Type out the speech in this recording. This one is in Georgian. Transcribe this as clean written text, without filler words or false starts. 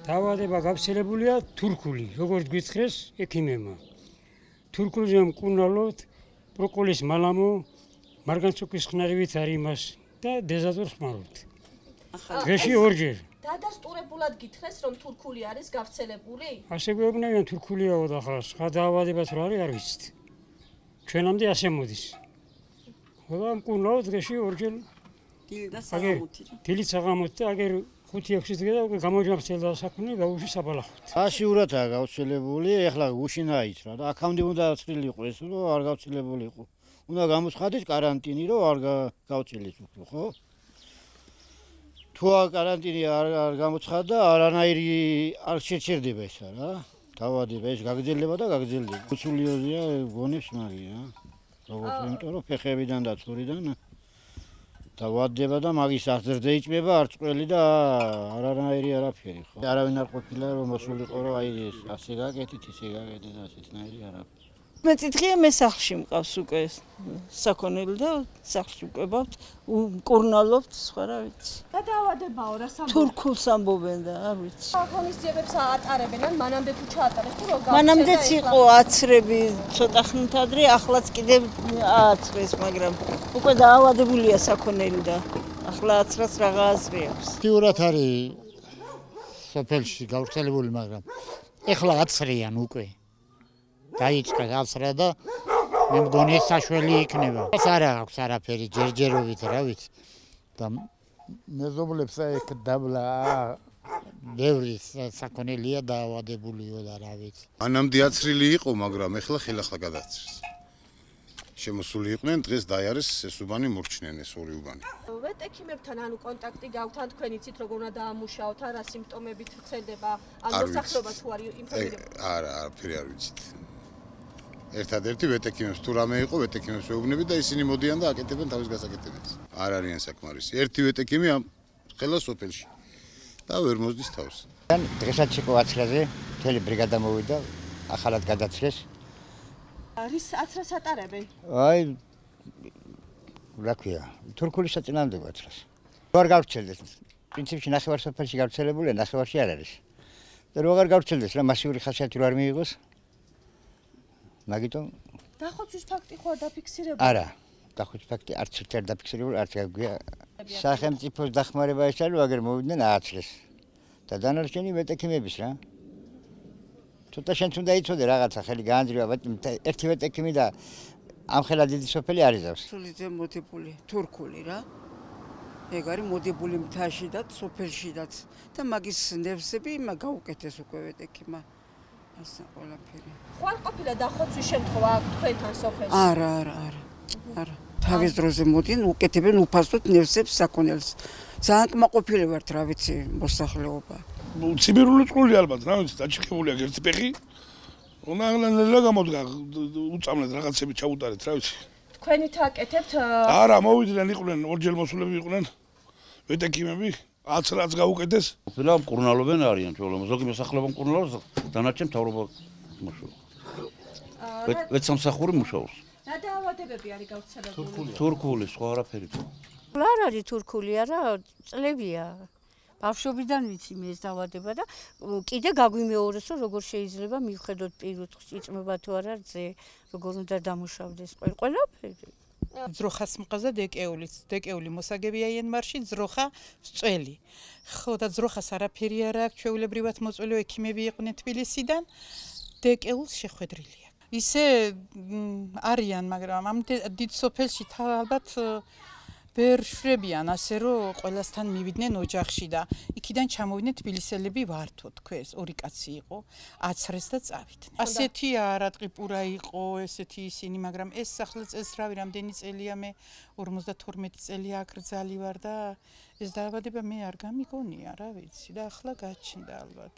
დაავადება გავრცელებულია თურქული, როგორც გითხრეს ექიმებმა. თურქულზე მკურნალობთ ბროკოლის მალამო, მარგანცუკის ხნარივით არის იმას და დეზატორს ხმარობთ. დღეში ორჯერ. დადასტურებულად გითხრეს, რომ თურქული არის გავრცელებული? ასე გვეუბნებიან თურქულიაო და ახლა სხვა დაავადება თუ არის არ ვიცით. ჩვენამდე ასე მოდის. და მკურნალობთ დღეში ორჯერ. დილით საღამოთი და აგერ 5-6 დღე და გამოჯამრთელდა საქმე გაუში საბალახოთ. აშიურათაა გავრცელებული, ეხლა გუშინ აიცრა და აქამდე უნდა აცრილი იყო ეს, რომ არ გავრცელებული იყო. უნდა გამოცხადდეს каранტინი, რომ არ გავწილდეს უფრო, ხო? თუ каранტინი არ გამოცხადდა, არანაირი არ შეჩერდება ესა რა. დაავადება ეს გაგრძელდება და გაგრძელდება. უცულიოზია გონებს მაგია. როგორც იმიტომ რომ ფეხებიდან და ცურიდან დაავადება და მაგის აღზრდა იჭმება არც ყველი და არანაირი არაფერი ხო. არავინ არ ყოფილა რომ მოსულიყო რომ აი ეს ასე გაკეთეთ, ისე გაკეთეთ და ასეთნაირი არაფერი. მეტი დღეა მე სახლში მყავს უკვე საქონელი და სახლში მკვებავთ, მკურნალობთ, სხვა რა ვიცი. და დაავადებაო რა სამბო? თურქულს ამბობენ და არ ვიცი. ღონისძიებებს ატარებენ, ან მანამდე თუ ჩაატარეს თუ რო გავცედა? მანამდეც იყო აცრები ცოტა ხნით ადრე, ახლაც კიდევ ააცრეს, მაგრამ უკვე დაავადებულია საქონელი და ახლა აცრას რაღა აზრი აქვს. აქტიურად არის სოფელში გავრცელებული, მაგრამ ეხლა აცრიან უკვე. დაიწყე აცრა და მე მგონი საშველი იქნება. ეს არა აქვს არაფერი ჯერჯერობით რა ვიცი. და მეზობლებს ეგ დაბლა ბევრი საქონელია დაავადებულიო და რა ვიცი. მანამდე აცრილი იყო, მაგრამ ეხლა ხელახლა გადააცრეს. შემოსული იყვნენ, დღეს დაიარეს ეს უბანი მორჩნენ ეს ორი უბანი. ვეტექიმებთან ანუ კონტაქტი გაქვთ, ან თქვენ იცით როგორ უნდა დაამუშაოთ, რა სიმპტომებით ვრცელდება, ან მოსახლეობა თუ არის ინფორმირებული? არა, არაფერი არ ვიცით. ერთადერთი ვეტექიმებს თუ რამე იყო, ვეტექიმებს ვეუბნები და ისინი მოდიან და აკეთებენ თავის გასაკეთებებს. არ არიან საკმარისი. ერთი ვეტექიმი ამ ხელა სოფელში და ვერ მოსდის თავს. დღესაც იყო აცრაზე, მთელი ბრიგადა მოვიდა, ახალად გადაცრეს. რის აცრას ატარებენ? აი რა ქვია, თურქული საწინააღმდეგო აცრას. როგორ გავრცელდეს? პრინციპში ნახევარსოფელში გავრცელებულია, ნახევარში არ არის. და როგორ გავრცელდეს რა მასიური ხასიათი არ მიიღოს? მაგიტომ დახოცვის ფაქტი ხო არ დაფიქსირებული? არა, დახოცვის ფაქტი არც ერთი არ დაფიქსირებული, არც გაგვია. სახელმწიფოს დახმარება ეს არის, აგერ მოვიდნენ ააცრეს. და დანარჩენი ვეტექიმების რა. ცოტა შენც უნდა იცოდე რაღაცა ხელი გაანძრევა, ერთი ვეტექიმი და ამ ხელა დიდი სოფელი არ იზავს. სულიძე მოდებული თურქული რა. ეგ არის მოდებული მთაში და სოფელშიდაც და მაგის ნევსები გაუკეთეს უკვე ვეტექიმა. ასე ყველაფერი. ხო არ ყოფილა დახოცვის შემთხვევა თქვენთან სოფელში? არა. თავის დროზე მოდიან, უკეთებენ უფასოდ ნევსებს საქონელს. ძალიან კმაყოფილი ვართ რა ვიცი მოსახლეობა. ციმერული წყული ალბათ რა ვიცი დაჭიქებული აქვს ერთი ფეხი. უნდა გამოდგა უწამლეთ რაღაცები ჩაუტარეთ რა ვიცი. თქვენით აკეთებთ? არა, მოვიდნენ იყვნენ ორჯერ მოსულები იყვნენ ვეტექიმები, აცრაც გაუკეთეს. ყოფილა მკურნალობენ არიან ჩვეულებრივ ზოგი მოსახლეობა მკურნალობს, დანარჩენ მთავრობა მუშაობს. ვეცსამსახური მუშაობს. რა დაავადებები არის გავრცელებული? თურქული, სხვა არაფერი. არ არის თურქული, არა, წლებია. ბავშვობიდან ვიცი მე ეს დაავადება და კიდე გაგვიმეორეს რომ როგორ შეიძლება მივხედოთ პირუტყვს იწმება თუ არა რძე, როგორ უნდა დამუშავდეს ყველაფერი. ძროხას მყავს და დეკეული მოსაგები აიენმარში ძროხა წველი. ხო და ძროხას არაფერი არ აქვს, ჩვეულებრივად მოწველი ექიმები იყვნენ თბილისიდან, დეკეულს შეხვედრილია. ისე არიან, მაგრამ ამ დიდ სოფელში ალბათ ვერ შვებიან ასე რომ ყველასთან მივიდნენ ოჯახში და იქიდან ჩამოვიდნენ თბილისელები ვართო თქვეს, ორი კაცი იყო, აცრეს და წავიდნენ. ასეთი არატყიპურა იყო ესეთი ისინი, მაგრამ ეს ახლა წესრავი რამდენი წელია მე 52 წელი აკრძალი ვარ და ეს დაავადება მე არ გამიგონია რა ვიცი და ახლა გაჩნდა ალბათ.